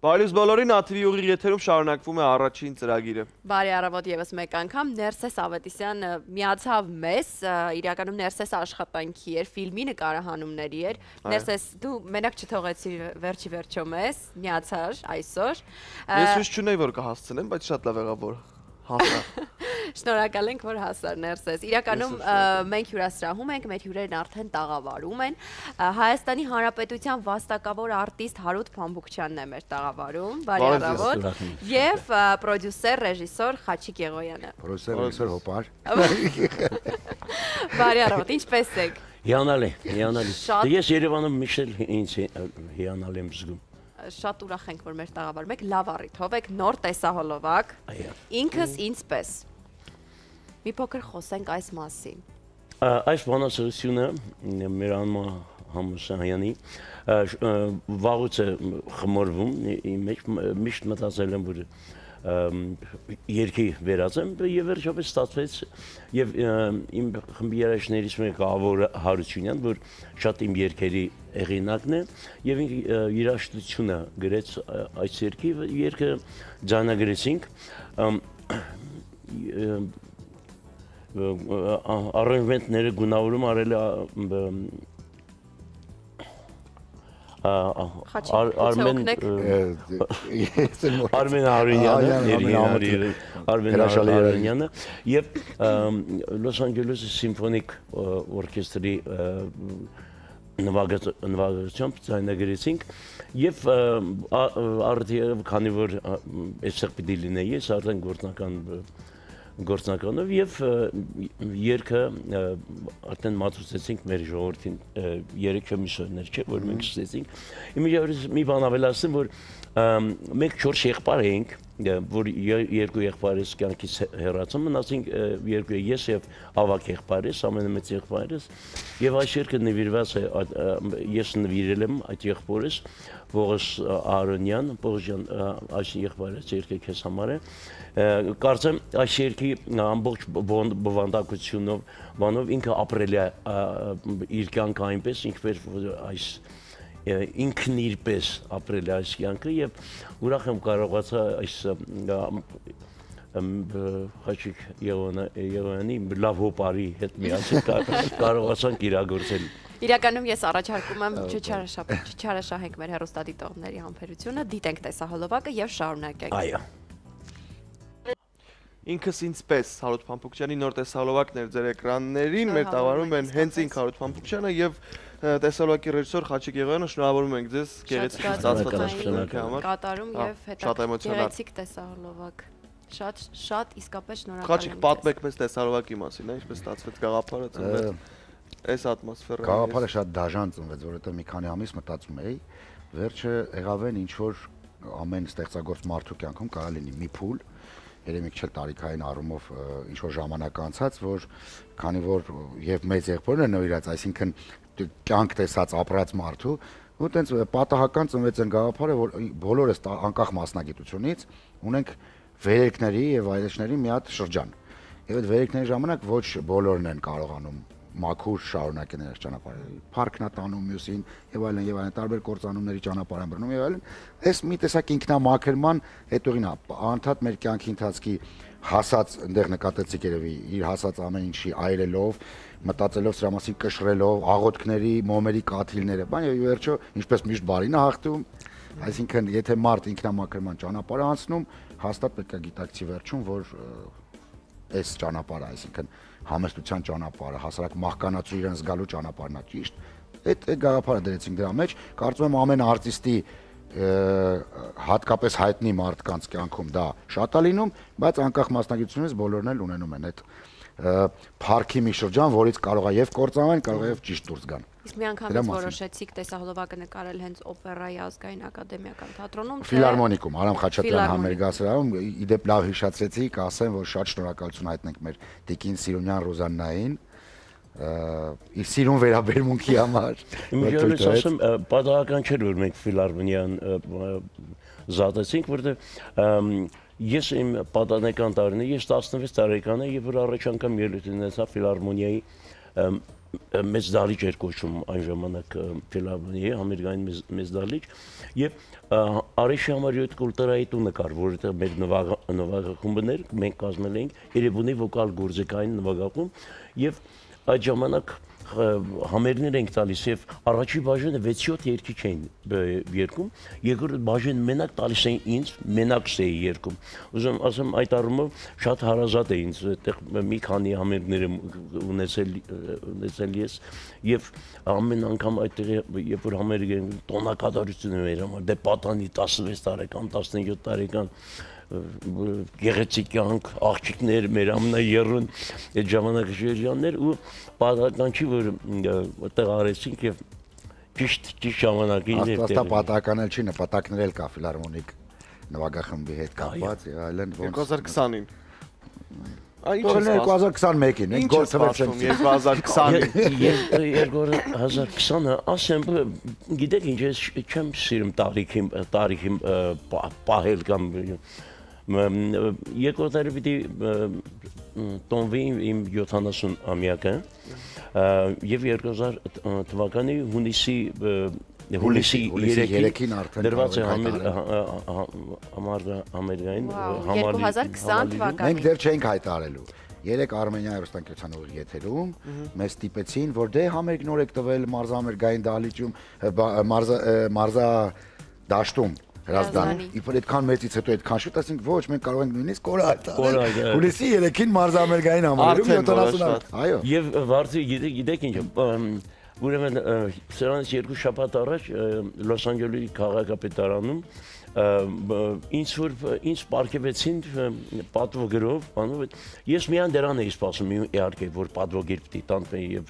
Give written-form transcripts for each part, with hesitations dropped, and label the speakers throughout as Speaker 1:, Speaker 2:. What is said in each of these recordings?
Speaker 1: Բարի բոլորին, ATV ուղիղ եթերում շարունակվում է առաջին ծրագիրը։
Speaker 2: Բարի առավոտ եւս մեկ անգամ Ներսես Ավետիսյան միացավ մեզ, իրականում Ներսես աշխատանքի էր, ֆիլմի նկարահանումների էր։ Ներսես, դու մենակ չթողեցի վերջի վերջո մեզ, միացար այսօր։
Speaker 1: Ես հույս չունեի, որ կհասցնեմ, բայց շատ լավ եղավ, որ հասա։
Speaker 2: Շնորհակալ ենք, որ հասար Ներսես։ Իրականում մենք հյուրասրահում ենք, մեր հյուրերն արդեն տաղավարում են։ Հայաստանի Հանրապետության վաստակավոր արտիստ Հարութ Փամբուկչյանն է մեր տաղավարում։ Բարի առավոտ։ Եվ պրոդյուսեր, ռեժիսոր Խաչիկ Եղոյանը։
Speaker 3: Պրոդյուսեր, ռեժիսոր Հոպար։
Speaker 2: Բարի առավոտ, ինչպե՞ս եք։
Speaker 4: Հիանալի, հիանալի։ Ես Երևանում միշտ ինձ հիանալի եմ զգում։
Speaker 2: Շատ ուրախ ենք, որ մեր տաղավարում եք, լավ առիթով եք, նոր տեսահոլովակ, ինքս ինձպես։ Մի փոքր խոսենք այս մասին։
Speaker 4: Այս բանասրությունը մեր անմա Համուսայանի վաղուց է խմորվում, միշտ մտածել եմ, որ երկի վերած եմ և վերջապես ստացվեց և իմ խմբի երաժիշտներից մեկը Ավոր Հարությունյան, որ շատ իմ երգերի հեղինակն է և երաժշտությունը գրեց այս երգի, երգը ձայնագրեցինք, առենվենտները գունավորում արել Արմեն Հարունյանը և Լոս Անջելեսի սիմֆոնիկ օրկեստրի նվագությամբ ձայնագրեցինք և արդյոք քանի որ այստեղ պիտի լինեի, ես արդեն գործնականով և երգը արդեն մատուցեցինք մեր ժողովրդին 3 ամիսներ չէ, որ մենք սկսեցինք։ Մի բան ավելացնեմ, որ մենք 4 եղբայր էինք, որ 2 եղբայրս կյանքից հեռացան, մնացինք 2 ես և ավագ եղբայրս, ամենամեծ եղբայրս, և այս երգը նվիրված է, ես նվիրել եմ այդ եղբորս, Պողոս Արոնյան, Պողոս այս եղբայրս երգը քեզ համար է, կարծեմ այս երգի ամբողջ բովանդակությունով ինքը ապրել է իր կյանքը այնպես, ինչպես այս ինքն իրպես ապրել է այս կյանքը և ուրախ եմ կարողացա այս Խաչիկ Եղոյանի լավ հոպարի հետ միասին կարողացանք իրագործել։
Speaker 2: Իրականում ես առաջարկում եմ չչարաշահենք մեր հեռուստադիտողների համբերությունը, դիտենք տեսահոլովակը և շարունակենք։
Speaker 4: Այո։
Speaker 1: Ինքս ինձպես Հարութ Փամբուկչյանի նոր տեսահոլովակներ ձեր էկրաններին, մեր տաղավարում են հենց ինք Հարութ Փամբուկչյանը և տեսահոլովակի ռեժիսոր Խաչիկ Եղոյանը, շնորհավորում ենք ձեզ գեղեցիկ ստացված աշխատանքի համար։
Speaker 2: Կատարում և գեղեցիկ տեսահոլովակ։ Շատ իսկապես շնորհակալ եմ։
Speaker 1: Խաչիկ, պատմեք մեզ տեսահոլովակի մասին, ինչպես ստացվեց գաղափարը ծնվեց այս ատմոսֆերայում։
Speaker 3: Գաղափարը շատ դաժան ծնվեց, որովհետև մի քանի ամիս մտածում էի, վերջը եղավ են ինչ որ ամեն ստեղծագործ մարդու կյանքում կարող լինի մի փուլ, երևի քիչ տարիքային առումով ինչ որ ժամանակ անցած, որ քանի որ եւ մեծ եղբորն է նորից, այսինքն կյանք տեսած ապրած մարդու, ու տենց պատահական ծնվեց այն գաղափարը, որ բոլորս անկախ մասնագիտությունից ունենք վերելքների եւ այլեջների մի հատ շրջան։ Եվ այդ վերելքների ժամանակ ոչ բոլորն են կարողանում մաքուր շարունակեն այս ճանապարհը։ Փառքն է տանում մյուսին եւ այլն, տարբեր կործանումների ճանապարհ են բռնում եւ այլն։ Այս մի տեսակ ինքնամաքրման հետողին է, անդադ մեր կյանքի ընթացքի հասած, այնտեղ նկատեցիք երևի, իր հասած ամեն ինչի այրելով, մտածելով սրա մասին, կշռելով, աղոթքների, մոմերի կաթիլները, բան եւ վերջո, ինչպես միշտ բարին է հաղթում, այսինքն եթե մարդ ինքնամաքրման ճանապարհ է անցնում, հաստատ պետք է գիտակցի վերջում, որ այս ճանապարհը, այսինքն համեստության ճանապարհը, հասարակ մահկանացու իրեն զգալու ճանապարհն է ճիշտ։ Այդ գաղափարը դրեցինք դրա մեջ, կարծում եմ ամեն արտիստի հատկապես հայտնի մարդկանց կյանքում դա շատ է լինում, բայց անկախ մասնագիտությունից բոլորն էլ ունենում են այդ փառքի մի շրջան, որից կարող է եւ կործանվել, կարող է եւ ճիշտ դուրս գան։
Speaker 2: Իսկ մի անգամից որոշեցիք տեսահոլովակը նկարել հենց օպերայի ազգային ակադեմիական թատրոնում,
Speaker 3: Ֆիլհարմոնիկում, Արամ Խաչատրյան համերգասարանում, իդեպ լավ հիշացրեցիք, ասեմ, որ շատ շնորհակալություն հայտնենք մեր Տիկին Սիրունյան Ռոզաննային, իր սիրուն վերաբերմունքի համար։
Speaker 4: Իմիջիայլոց ասեմ, պատահական չէր, որ մենք Ֆիլհարմոնիան զատեցինք, որտեղ ես իմ պատանեկան տարիներին, ես 16 տարեկան եմ, եւ որ առաջ անգամ ելույթ ունեցա Ֆիլհարմոնիայի մեծ դալիճ էր կոչում այն ժամանակ ֆիլհարմոնիայի ամերիկյան մեծ դալիճ եւ Արեշի համար 7 կուլտուրայի տունը կար, որտեղ մեր նվագախումբն էր, մենք կազմել էինք Երևանի վոկալ գործիքային նվագախումբ եւ այդ ժամանակ համերներ ենք տալիս եւ առաջի բաժինը 6-7 երգիչ էին երգում, երկրորդ բաժինը մենակ տալիս էին ինձ, մենակ էի երգում։ Ուզում ասեմ այդ առումով շատ հարազատ է ինձ, այդտեղ մի քանի համերներ եմ ունեցել ես եւ ամեն անգամ այդտեղ երբ որ համերգ են տոնակատարություն էր համար, դե պատանի 16 տարեկան, 17 տարեկան գեղեցիկ կյանք, աղջիկներ, մեր ամենաերուն այդ ժամանակի շրջաններ ու պատահական չի որ այդտեղ արեցինք եւ ճիշտ ժամանակին
Speaker 3: Աստվածա պատահական էլ չի, նպատակներ էլ կա ֆիլհարմոնիկ նվագախմբի հետ կապված եւ այլն
Speaker 1: 2020-ին
Speaker 3: Թողնել 2021-ին, մենք գործվեցինք
Speaker 1: 2020-ին
Speaker 4: 2020-ը ասեմ, գիտեք ինչ ես չեմ սիրում տարիքին պահել կամ երկրորդ տարի պիտի տոնվի իմ 70-ամյակը եւ 2000 թվականի հունիսի 3-ին դրված է համերգային
Speaker 2: 2020 թվականին
Speaker 3: Մենք դեռ չենք հայտարարելու 3 Արմենիայի հեռուստաընկերության ուղիղ եթերում մեզ ստիպեցին, որ դե համերգ նոր եք տվել մարզամերգային դահլիճում մարզա դաշտում Հրազդան, իբր այդքան մեծից հետո այդքան շուտ ասենք ոչ, մենք կարող ենք նույնիսկ կորը հայտարարել։ Հուլիսի 3-ին մարզամերգային համերգում 70 այո։
Speaker 4: Եվ վարձի գիտեք ինչ, ուրեմն սրանից 2 շաբաթ առաջ Լոս Անջելեսի քաղաքապետարանում ինձ պարգևեցին պատվոգրով, ես միայն դրան էի սպասում, իհարկե, որ պատվոգիր պիտի տանվեի եւ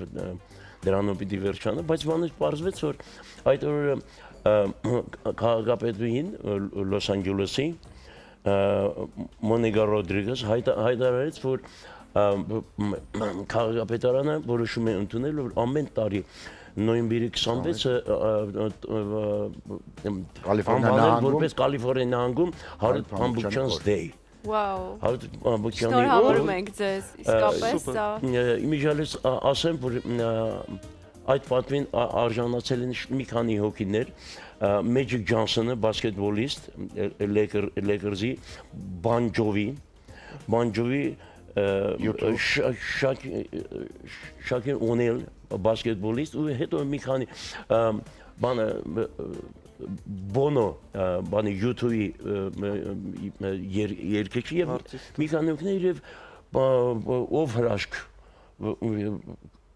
Speaker 4: դրանով պիտի վերջանա, բայց բանից պարզվեց, որ այդ օրը քաղաքապետուհին Լոս Անջելեսի Մոնիկա Ռոդրիգես հայտարարեց, որ քաղաքապետարանը որոշում է ընդունել, որ ամեն տարի նոյեմբերի 26-ը որպես Կալիֆոռնիա նահանգում Հարութ Փամբուկչյան's Day
Speaker 2: Շնորհավորում ենք ձեզ, իսկապես սա
Speaker 4: Իմիջիալից ասեմ, որ այդ պատվին արժանացել են մի քանի հոգիներ Մեջիկ Ջոնսոնը, բասկետբոլիստ, Լեյքերսի, Բանջովի, Շակիր Օնիլ, բասկետբոլիստ, ու հետո մի քանի բանը Բոնո, բանը YouTube-ի երգիչ եւ մի քանի հոգիներ եւ ով հրաշք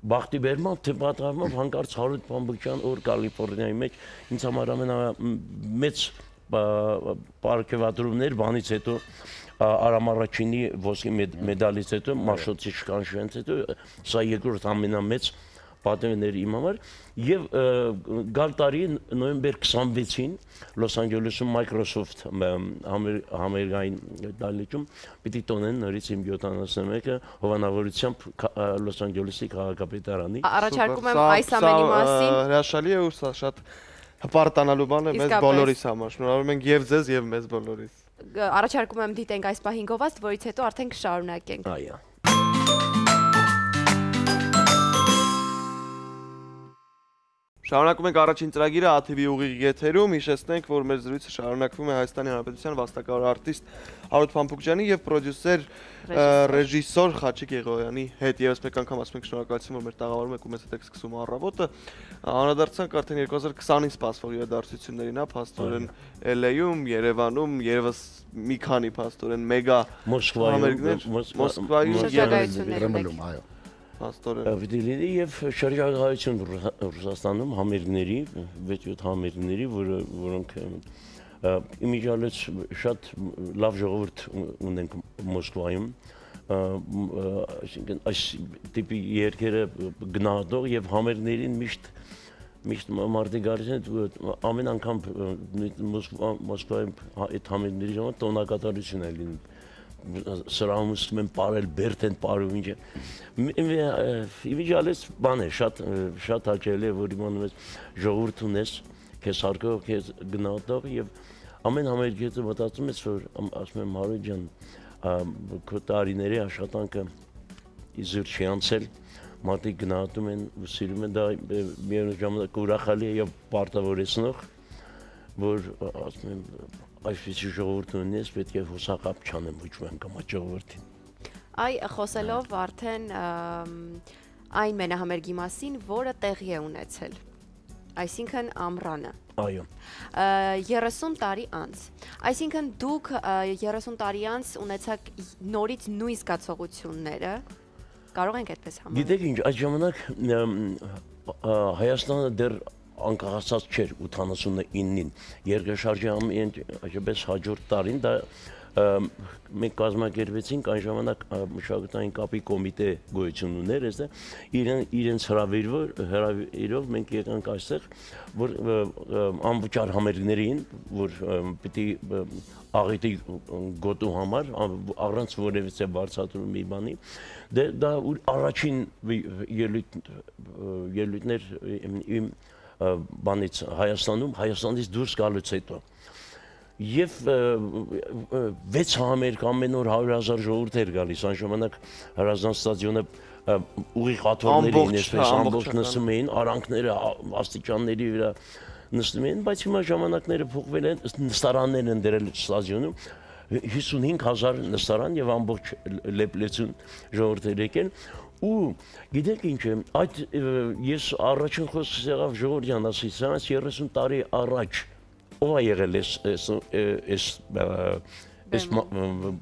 Speaker 4: Բախտի բերմամբ, թե պատահմամբ հանկարծ Հարութ Փամբուկչյան օր Կալիֆոռնիայի մեջ ինձ համար ամենամեծ պարգևատրումներ բանից հետո Արամ Արաչինի ոսկի մեդալից հետո, Մաշոտի շկանշվենց հետո, սա երկրորդ ամենամեծ պատվն էր իմ համար եւ գալ տարի նոյեմբեր 26-ին Լոս Անջելեսում Microsoft համերգային դահլիճում պիտի տոնեն նորից իմ 71-ը հովանավորությամբ Լոս Անջելեսի քաղաքապետարանի
Speaker 2: Առաջարկում եմ այս ամենի մասին
Speaker 1: հրաշալի է ու սա շատ հպարտանալու բան է մեզ բոլորիս համար շնորհավորում ենք եւ ձեզ եւ մեզ բոլորիս
Speaker 2: Առաջարկում եմ դիտենք այս պահին գովազդ, որից հետո արդեն կշարունակենք
Speaker 4: Այո
Speaker 1: Շարունակում ենք առաջին ծրագիրը ATV ուղիղ եթերում, հիշեցնենք, որ մեր զրույցը շարունակվում է Հայաստանի Հանրապետության վաստակավոր արտիստ Հարութ Փամփուկչյանի եւ պրոդյուսեր ռեժիսոր Խաչիկ Եղոյանի հետ եւս մեկ անգամ ասում ենք շնորհակալություն, որ մեր տաղավարում եք ու մեզ հետ եք սկսում առավոտը։ Անդրադարձանք արդեն 2020-ին սպասվող իրադարձություններին, փաստորեն LA-ում, Երևանում, երևս մի քանի փաստորեն մեգա
Speaker 3: Մոսկվայում, այո
Speaker 4: Վիդելինի եւ շրջագայություն Ռուսաստանում համերգների, 6-7 համերգների, որոնք իմիջիալից շատ լավ ժողովուրդ ունենք Մոսկվայում, այսինքն այս տիպի երկերը գնահատող եւ համերգներին միշտ մարդիկ գալիս են ամեն անգամ Մոսկվայում այդ համերգների ժամանակ տոնակատարություն է լինում սրահում ուստում են պարել, բերդ են պարում ինչ է։ Իմիջիալից բան է, շատ հաճելի է, որ իմանում ես ժողովուրդ ունես, քեզ հարգող, քեզ գնահատող եւ ամեն համերգի հետո մտածում ես, որ ասում եմ Հարութ ջան, քո տարիների աշխատանքը իզուր չի անցել, մարդիկ գնահատում են ու սիրում են դա միևնույն ժամանակ ուրախալի է եւ պարտավորեցնող, որ ասում եմ այսպեսի ժողովուրդ ունես պետք է հուսակապ չանեմ ոչ մի անգամ այդ ժողովրդին։
Speaker 2: Այ խոսելով արդեն այն մենահամերգի մասին, որը տեղի է ունեցել, այսինքն ամռանը։
Speaker 4: Այո։
Speaker 2: 30 տարի անց։ Այսինքն դուք 30 տարի անց ունեցաք նորից նույն զգացողությունները, կարող ենք այդպես համարել։
Speaker 4: Գիտեք ինչ, այդ ժամանակ Հայաստանը դեռ անկախացած չէր 89-ին, երկրաշարժի այդպես հաջորդ տարին դա մենք կազմակերպեցինք այն ժամանակ մշակութային կապի կոմիտե գոյություն ուներ, իրենց հրավիրով մենք եկանք այստեղ, որ անվճար համերգներին, որ պիտի աղետի գոտու համար, առանց որևիցե բարձրացում մի բանի, դա առաջին ելույթներ իմ բանից Հայաստանից դուրս գալուց հետո։ Եվ 6 համերգ ամեն օր 100,000 ժողովուրդ էր գալիս, այն ժամանակ Հրազդան ստադիոնը ուղիղ աթոռներին այսպես ամբողջ նստում էին, արանքները աստիճանների վրա նստում էին, բայց հիմա ժամանակները փոխվել են, նստարաններ են դրել ստադիոնում, 55,000 նստարան եւ ամբողջ լեփլեցուն ժողովուրդներ եկել ու գիտեք ինչ է, այդ ես առաջին խոսքս եղավ Ժողովրդյան ասեցի, 30 տարի առաջ ով է եղել այս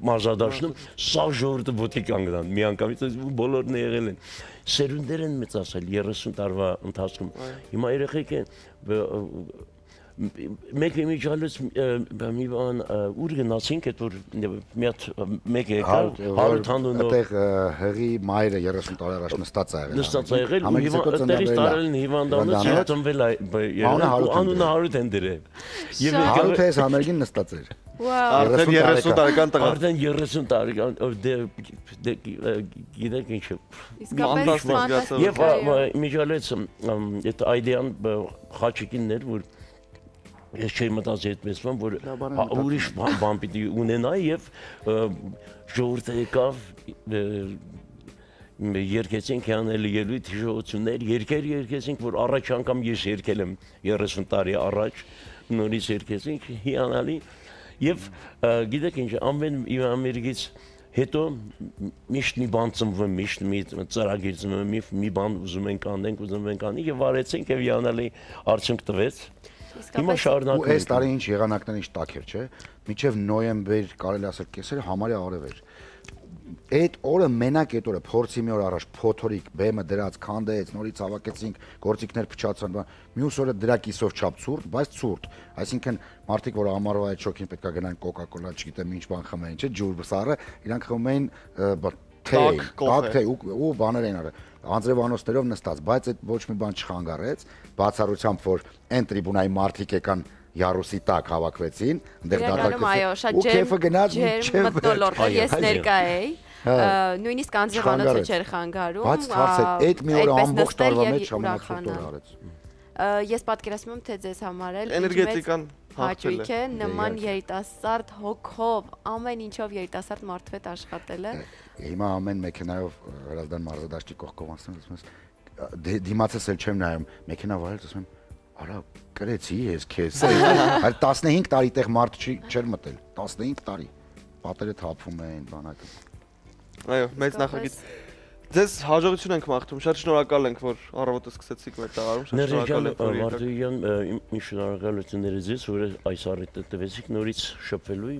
Speaker 4: մարզադաշտում, սա ժողովուրդը ոտքի կանգնան, միանգամից բոլորն եղել են։ Սերունդներ են մեծացել 30 տարվա ընթացքում։ Հիմա երեխեք են մեկ իմիջալուց մի բան ուր գնացինք, այդ որ մի հատ մեկ եկա, Հարութ Անունով
Speaker 3: այդտեղ հղի մայրը 30 տարի առաջ նստած է եղել։
Speaker 4: Նստած է եղել, ու այդտեղից տարել են հիվանդանոց, ծնվել է, անունը Հարութ են դրել։ Եւ
Speaker 3: Հարութը այս համերգին նստած էր։
Speaker 1: Արդեն 30 տարեկան տղա։
Speaker 4: Արդեն 30 տարեկան, գիտեք ինչ է։
Speaker 2: Իսկապես ֆանտաստիկ։
Speaker 4: Եվ միջալեց այդ այդեան Խաչիկինն էր, որ ես չէի մտածի այդպես բան, որ ուրիշ բան պիտի ունենա եւ ժողովուրդը եկավ երկեցինք անելի ելույթ հիշողություններ, երկեցինք, որ առաջ անգամ ես երկել եմ 30 տարի առաջ, նորից երկեցինք, հիանալի եւ գիտեք ինչ, ամեն ամերիկից հետո միշտ մի բան ծնվում, միշտ մի ծրագիր ծնվում, մի բան ուզում ենք անենք, եւ արեցինք եւ հիանալի արդյունք տվեց։ Հիմա շարունակում
Speaker 3: ենք։ Ու այս տարի ինչ եղանակներ ինչ տաք էր, չէ՞։ Մինչև նոյեմբեր, կարելի ասել կեսերը համարյա արև էր։ Այդ օրը մենակ այդ օրը փորձի մի օր առաջ փոթորիկ բեմը դրած քանդեց, նորից հավաքեցինք, գործիքներ փչացան, մյուս օրը դրա կիսով չափ ցուրտ, բայց ցուրտ։ Այսինքն մարդիկ, որ ամառվա այդ շոկին պետքա գնան կոկա-կոլա, չգիտեմ ինչ բան խմեին, չէ՞, ջուր սառը, իրանք խմում էին թե ու բաներ էին արել։ Անձրևանոցներով նստած, բայց այդ ոչ մի բան չխանգարեց, բացառությամբ որ այն տրիբունայի մարդիկ եկան Յարուսի տակ հավաքվեցին, այնտեղ դատարկեցին։ Ու քեֆը գնաց
Speaker 2: մթնոլորտ, ես ներկա էի, նույնիսկ անձրևանոցը չէր խանգարում։
Speaker 3: Բայց հարց է, այդ մի օր ամբողջ տարվա մեջ ամենացուրտ օրը արեց։
Speaker 2: Ես պատկերացնում եմ, թե ձեզ համար էլ
Speaker 1: էներգետիկան
Speaker 2: հաճույք է, նման երիտասարդ հոգով, ամեն ինչով երիտասարդ մարդու հետ աշխատելը։
Speaker 3: Հիմա ամեն մեքենայով Հրազդան մարզադաշտի կողքով անցնում եմ, դիմացս էլ չեմ նայում, մեքենա վարել, ասում եմ, արա կրեցի ես քեզ։ Այլ 15 տարի տեղ մարդ չէր մտել, 15 տարի։ Պատերը թափվում են, բանակը։
Speaker 1: Այո, մեծ նախագիծ։ Ձեզ հաջողություն ենք մաղթում, շատ շնորհակալ ենք, որ առավոտը սկսեցիք մեր տաղարում, շատ շնորհակալ ենք, որ եկաք։
Speaker 4: Մարտիրյան, իմ շնորհակալությունները ձեզ, որ այս առիթը տվեցիք նորից շփվելու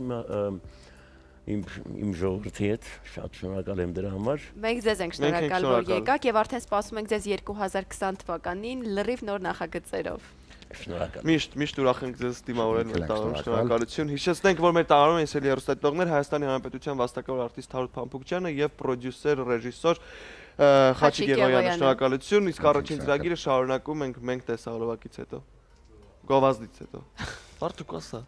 Speaker 4: իմ ժողովրդի հետ, շատ շնորհակալ եմ դրա համար։
Speaker 2: Մենք ձեզ ենք շնորհակալ, որ եկաք եւ արդեն սպասում ենք ձեզ 2020 թվականին լրիվ նոր նախագծերով։
Speaker 4: Շնորհակալ։
Speaker 1: Միշտ ուրախ ենք ձեզ դիմավորել մեր տաղարում, շնորհակալություն։ Հիշեցնենք, որ մեր տաղարում են սելի հեռուստատիտողներ Հայաստանի Հանրապետության վաստակավոր արտիստ Հարութ Փամփուկչյանը եւ պրոդյուսեր, ռեժիսոր Խաչիկ Եղոյանը, շնորհակալություն։ Իսկ առաջին ծրագիրը շարունակում ենք մենք տեսահոլովակից հետո։ Գովազդից հետո։ Բարդուկ ասա։